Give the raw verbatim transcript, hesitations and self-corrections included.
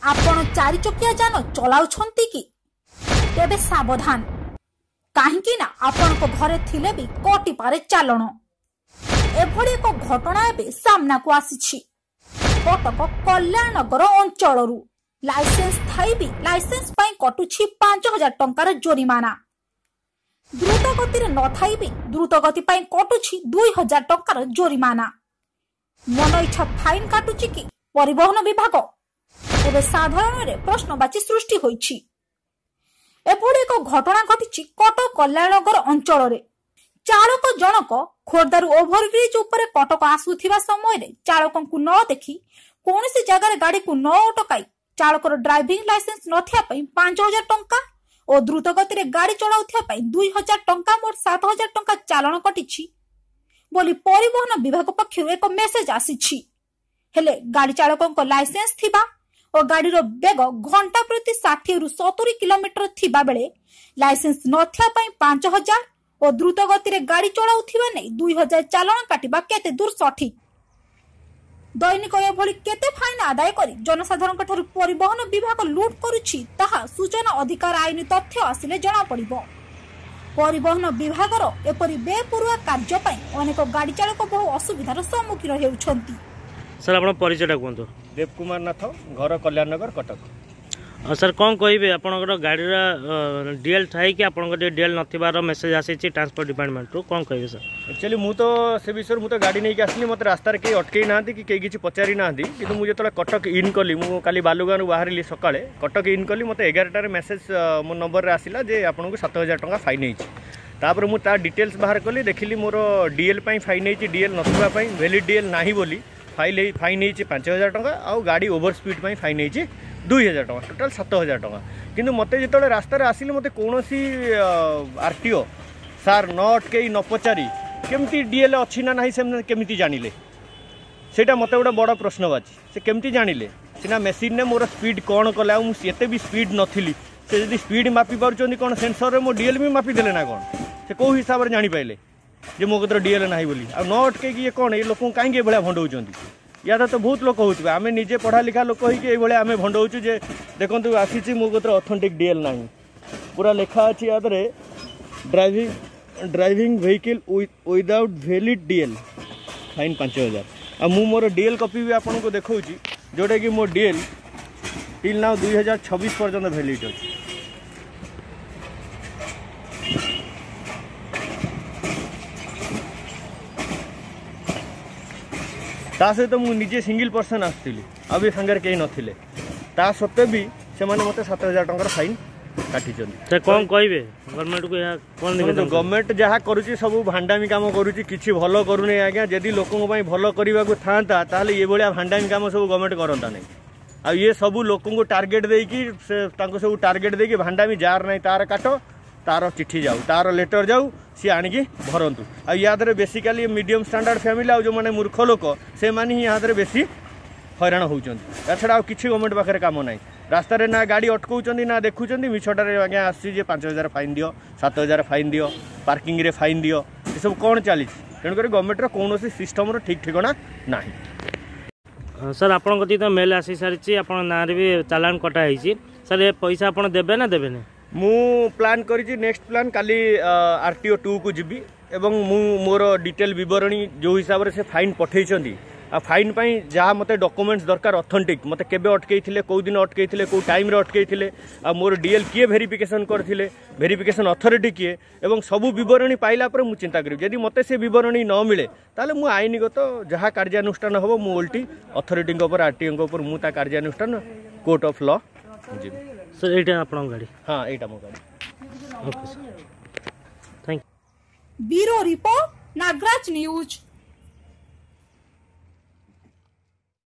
ଆପଣ ଚାରିଚକିଆ ଯାନ ଚଲାଉଛନ୍ତି କି? ତେବେ ସାବଧାନ, କାହିଁକି ନା ଆପଣଙ୍କ ଘରେ ଥିଲେ ବି କଟିପାରେ ଚାଲାଣ। ଏଭଳି ଏକ ଘଟଣା ଏବେ ସାମ୍ନାକୁ ଆସିଛି କଟକ କଲ୍ୟାଣନଗର ଅଞ୍ଚଳରୁ। ଲାଇସେନ୍ସ ଥାଇ ବି ଲାଇସେନ୍ସ ପାଇଁ କଟୁଛି ପାଞ୍ଚ ହଜାର ଟଙ୍କାର ଜୋରିମାନା। ଦ୍ରୁତ ଗତିରେ ନଥାଇ ବି ଦ୍ରୁତ ଗତି ପାଇଁ କଟୁଛି ଦୁଇ ହଜାର ଟଙ୍କାର ଜୋରିମାନା। ମନ ଇଚ୍ଛା ଫାଇନ୍ କାଟୁଛି କି ପରିବହନ ବିଭାଗ? ଏବେ ସାଧାରଣରେ ପ୍ରଶ୍ନବାଚୀ ସୃଷ୍ଟି ହୋଇଛି। ଏଭଳି ଏକ ଘଟଣା ଘଟିଛି କଟକ କଲ୍ୟାଣନଗର ଅଞ୍ଚଳରେ। ଚାଳକ ଜଣକ ଖୋର୍ଦ୍ଧାରୁ ଓଭରବ୍ରିଜ ଉପରେ କଟକ ଆସୁଥିବା ସମୟରେ ଚାଳକଙ୍କୁ ନ ଦେଖି କୌଣସି ଜାଗାରେ ଗାଡିକୁ ନ ଅଟକାଇ ଚାଳକର ଡ୍ରାଇଭିଂ ଲାଇସେନ୍ସ ନଥିବା ପାଇଁ ପାଞ୍ଚ ହଜାର ଟଙ୍କା ଓ ଦ୍ରୁତ ଗତିରେ ଗାଡି ଚଳାଉଥିବା ପାଇଁ ଦୁଇ ହଜାର ଟଙ୍କା, ମୋଟ ସାତ ହଜାର ଟଙ୍କା ଚାଲାଣ କଟିଛି ବୋଲି ପରିବହନ ବିଭାଗ ପକ୍ଷରୁ ଏକ ମେସେଜ ଆସିଛି। ହେଲେ ଗାଡି ଚାଳକଙ୍କ ଲାଇସେନ୍ସ ଥିବା ଓ ଗାଡିର ବେଗ ଘଣ୍ଟା ପ୍ରତି ଷାଠିଏରୁ ସତୁରି କିଲୋମିଟର ଥିବା ବେଳେ ଲାଇସେନ୍ସ ନଥିବା ପାଇଁ ପାଞ୍ଚ ହଜାର ଓ ଦ୍ରୁତ ଗତିରେ ଗାଡି ଚଳାଉଥିବା ନେଇ ଦୁଇ ହଜାର ଚାଲାଣ କାଟିବା କେତେ ଦୂର ସଠିକ? ଦୈନିକ ଏଭଳି କେତେ ଫାଇନ ଆଦାୟ କରି ଜନସାଧାରଣଙ୍କ ଠାରୁ ପରିବହନ ବିଭାଗ ଲୁଟ୍ କରୁଛି, ତାହା ସୂଚନା ଅଧିକାର ଆଇନ ତଥ୍ୟ ଆସିଲେ ଜଣାପଡ଼ିବ। ପରିବହନ ବିଭାଗର ଏପରି ବେପରୁଆ କାର୍ଯ୍ୟ ପାଇଁ ଅନେକ ଗାଡି ଚାଳକ ବହୁ ଅସୁବିଧାର ସମ୍ମୁଖୀନ ହେଉଛନ୍ତି। ସାର୍, ଆପଣ ପରିଚୟଟା କୁହନ୍ତୁ। ଦେବ କୁମାର ନାଥ, ଘର କଲ୍ୟାଣନଗର, କଟକ। ସାର୍, କ'ଣ କହିବେ? ଆପଣଙ୍କର ଗାଡ଼ିର ଡିଏଲ୍ ଥାଇକି ଆପଣଙ୍କର ଟିକେ ଡିଏଲ୍ ନଥିବାର ମେସେଜ୍ ଆସିଛି ଟ୍ରାନ୍ସପୋର୍ଟ ଡିପାର୍ଟମେଣ୍ଟରୁ, କ'ଣ କହିବେ ସାର୍? ଆକ୍ଚୁଆଲି ମୁଁ ତ ସେ ବିଷୟରେ, ମୁଁ ତ ଗାଡ଼ି ନେଇକି ଆସିଲି, ମୋତେ ରାସ୍ତାରେ କେହି ଅଟକେଇ ନାହାନ୍ତି କି କେହି କିଛି ପଚାରି ନାହାନ୍ତି। କିନ୍ତୁ ମୁଁ ଯେତେବେଳେ କଟକ ଇନ୍ କଲି, ମୁଁ କାଲି ବାଲୁଗାଁରୁ ବାହାରିଲି ସକାଳେ, କଟକ ଇନ୍ କଲି, ମୋତେ ଏଗାରଟାରେ ମେସେଜ୍ ମୋ ନମ୍ବରରେ ଆସିଲା ଯେ ଆପଣଙ୍କୁ ସାତ ହଜାର ଟଙ୍କା ଫାଇନ୍ ହେଇଛି। ତାପରେ ମୁଁ ତା ଡିଟେଲ୍ସ ବାହାର କଲି, ଦେଖିଲି ମୋର ଡିଏଲ୍ ପାଇଁ ଫାଇନ୍ ହେଇଛି। ଡିଏଲ୍ ନଥିବା ପାଇଁ, ଭ୍ୟାଲିଡ୍ ଡିଏଲ୍ ନାହିଁ ବୋଲି ଫାଇଲ୍ ହେଇ ଫାଇନ୍ ହେଇଛି ପାଞ୍ଚ ହଜାର ଟଙ୍କା, ଆଉ ଗାଡ଼ି ଓଭର ସ୍ପିଡ୍ ପାଇଁ ଫାଇନ୍ ହେଇଛି ଦୁଇ ହଜାର ଟଙ୍କା, ଟୋଟାଲ୍ ସାତ ହଜାର ଟଙ୍କା। କିନ୍ତୁ ମୋତେ ଯେତେବେଳେ ରାସ୍ତାରେ ଆସିଲି, ମୋତେ କୌଣସି ଆର୍ ଟି ଓ ସାର୍ ନ ଅଟକେଇ ନ ପଚାରି କେମିତି ଡିଏଲ୍ ଅଛି ନା ନାହିଁ ସେମାନେ କେମିତି ଜାଣିଲେ, ସେଇଟା ମୋତେ ଗୋଟେ ବଡ଼ ପ୍ରଶ୍ନବାଚୀ। ସେ କେମିତି ଜାଣିଲେ? ସିନା ମେସିନ୍ରେ ମୋର ସ୍ପିଡ୍ କ'ଣ କଲେ, ଆଉ ମୁଁ ଏତେ ବି ସ୍ପିଡ୍ ନଥିଲି। ସେ ଯଦି ସ୍ପିଡ୍ ମାପି ପାରୁଛନ୍ତି, କ'ଣ ସେନ୍ସରରେ ମୋ ଡିଏଲ୍ ବି ମାପିଦେଲେ ନା କ'ଣ? ସେ କେଉଁ ହିସାବରେ ଜାଣିପାରିଲେ ଯେ ମୋ କତିରେ ଡିଏଲ୍ ନାହିଁ ବୋଲି? ଆଉ ନ ଅଟକେଇକି ଇଏ କ'ଣ, ଏ ଲୋକଙ୍କୁ କାହିଁକି ଏଭଳିଆ ଭଣ୍ଡଉଛନ୍ତି? ୟାର ତ ବହୁତ ଲୋକ ହେଉଥିବେ। ଆମେ ନିଜେ ପଢ଼ା ଲେଖା ଲୋକ ହେଇକି ଏଇଭଳିଆ ଆମେ ଭଣ୍ଡଉଛୁ ଯେ ଦେଖନ୍ତୁ, ଆସିଛି, ମୋ କତିରେ ଅଥେଣ୍ଟିକ୍ ଡିଏଲ୍ ନାହିଁ। ପୁରା ଲେଖା ଅଛି ୟା ଦେହରେ, driving driving vehicle without valid D L, fine ପାଞ୍ଚ ହଜାର। ଆଉ ମୁଁ ମୋର ଡିଏଲ୍ କପି ବି ଆପଣଙ୍କୁ ଦେଖାଉଛି, ଯେଉଁଟାକି ମୋ ଡିଏଲ୍ ଟିଲ୍ ନାଉ ଦୁଇ ହଜାର ଛବିଶ ପର୍ଯ୍ୟନ୍ତ ଭ୍ୟାଲିଡ୍ ଅଛି। ତା ସହିତ ମୁଁ ନିଜେ ସିଙ୍ଗିଲ୍ ପର୍ସନ୍ ଆସିଥିଲି, ଆଉ ବି ସାଙ୍ଗରେ କେହି ନଥିଲେ। ତା ସତ୍ତ୍ୱେ ବି ସେମାନେ ମୋତେ ସାତ ହଜାର ଟଙ୍କାର ଫାଇନ୍ କାଟିଛନ୍ତି। ସାର୍, କ'ଣ କହିବେ ଗଭର୍ଣ୍ଣମେଣ୍ଟକୁ? ଏହା କ'ଣ? ଗଭର୍ଣ୍ଣମେଣ୍ଟ ଯାହା କରୁଛି ସବୁ ଭାଣ୍ଡାମି କାମ କରୁଛି, କିଛି ଭଲ କରୁନି ଆଜ୍ଞା। ଯଦି ଲୋକଙ୍କ ପାଇଁ ଭଲ କରିବାକୁ ଥାନ୍ତା, ତାହେଲେ ଏଭଳିଆ ଭାଣ୍ଡାମି କାମ ସବୁ ଗଭର୍ଣ୍ଣମେଣ୍ଟ କରନ୍ତା ନାହିଁ। ଆଉ ଇଏ ସବୁ ଲୋକଙ୍କୁ ଟାର୍ଗେଟ୍ ଦେଇକି, ସେ ତାଙ୍କୁ ସବୁ ଟାର୍ଗେଟ୍ ଦେଇକି ଭାଣ୍ଡାମି, ଯାହାର ନାହିଁ ତାର କାଟ, ତାର ଚିଠି ଯାଉ, ତାର ଲେଟର୍ ଯାଉ, ସିଏ ଆଣିକି ଭରନ୍ତୁ। ଆଉ ୟା ଦେହରେ ବେସିକାଲି ମିଡ଼ିୟମ୍ ଷ୍ଟାଣ୍ଡାର୍ଡ଼ ଫ୍ୟାମିଲି ଆଉ ଯେଉଁମାନେ ମୂର୍ଖ ଲୋକ, ସେମାନେ ହିଁ ୟା ଦେହରେ ବେଶୀ ହଇରାଣ ହେଉଛନ୍ତି। ତା ଛଡ଼ା ଆଉ କିଛି ଗଭର୍ଣ୍ଣମେଣ୍ଟ ପାଖରେ କାମ ନାହିଁ। ରାସ୍ତାରେ ନା ଗାଡ଼ି ଅଟକାଉଛନ୍ତି ନା ଦେଖୁଛନ୍ତି। ମିଛଟାରେ ଆଜ୍ଞା ଆସୁଛି ଯେ ପାଞ୍ଚ ହଜାର ଫାଇନ୍ ଦିଅ, ସାତ ହଜାର ଫାଇନ୍ ଦିଅ, ପାର୍କିଂରେ ଫାଇନ୍ ଦିଅ। ଏସବୁ କ'ଣ ଚାଲିଛି? ତେଣୁକରି ଗଭର୍ଣ୍ଣମେଣ୍ଟର କୌଣସି ସିଷ୍ଟମର ଠିକ୍ ଠିକଣା ନାହିଁ। ସାର୍, ଆପଣଙ୍କ କତିକି ତ ମେଲ୍ ଆସି ସାରିଛି, ଆପଣଙ୍କ ନାଁରେ ବି ଚାଲାଣ କଟା ହେଇଛି। ସାର୍, ଏ ପଇସା ଆପଣ ଦେବେ ନା ଦେବେନି? ମୁଁ ପ୍ଲାନ୍ କରିଛି, ନେକ୍ସଟ ପ୍ଲାନ୍ କାଲି ଆର୍ ଟି ଓ ଟୁକୁ ଯିବି ଏବଂ ମୁଁ ମୋର ଡିଟେଲ୍ ବିବରଣୀ, ଯେଉଁ ହିସାବରେ ସେ ଫାଇନ୍ ପଠେଇଛନ୍ତି ଆଉ ଫାଇନ୍ ପାଇଁ ଯାହା ମୋତେ ଡକୁମେଣ୍ଟସ୍ ଦରକାର ଅଥେଣ୍ଟିକ୍, ମୋତେ କେବେ ଅଟକେଇଥିଲେ, କେଉଁ ଦିନ ଅଟକେଇଥିଲେ, କେଉଁ ଟାଇମ୍ରେ ଅଟକେଇଥିଲେ, ଆଉ ମୋର ଡିଏଲ୍ କିଏ ଭେରିଫିକେସନ୍ କରିଥିଲେ, ଭେରିଫିକେସନ୍ ଅଥରିଟି କିଏ, ଏବଂ ସବୁ ବିବରଣୀ ପାଇଲା ପରେ ମୁଁ ଚିନ୍ତା କରିବି। ଯଦି ମୋତେ ସେ ବିବରଣୀ ନ ମିଳେ, ତାହେଲେ ମୁଁ ଆଇନଗତ ଯାହା କାର୍ଯ୍ୟାନୁଷ୍ଠାନ ହେବ, ମୁଁ ଓଲଟି ଅଥରିଟିଙ୍କ ଉପରେ, ଆର୍ ଟି ଓଙ୍କ ଉପରେ ମୁଁ ତା କାର୍ଯ୍ୟାନୁଷ୍ଠାନ କୋର୍ଟ ଅଫ୍ ଲ ଯିବି। ସାର୍, ଏଇଟା ଆପଣଙ୍କ ଗାଡ଼ି? ହଁ, ଏଇଟା ମୋ ଗାଡ଼ି। Okay sir, thank bureau report, Nagaraj news.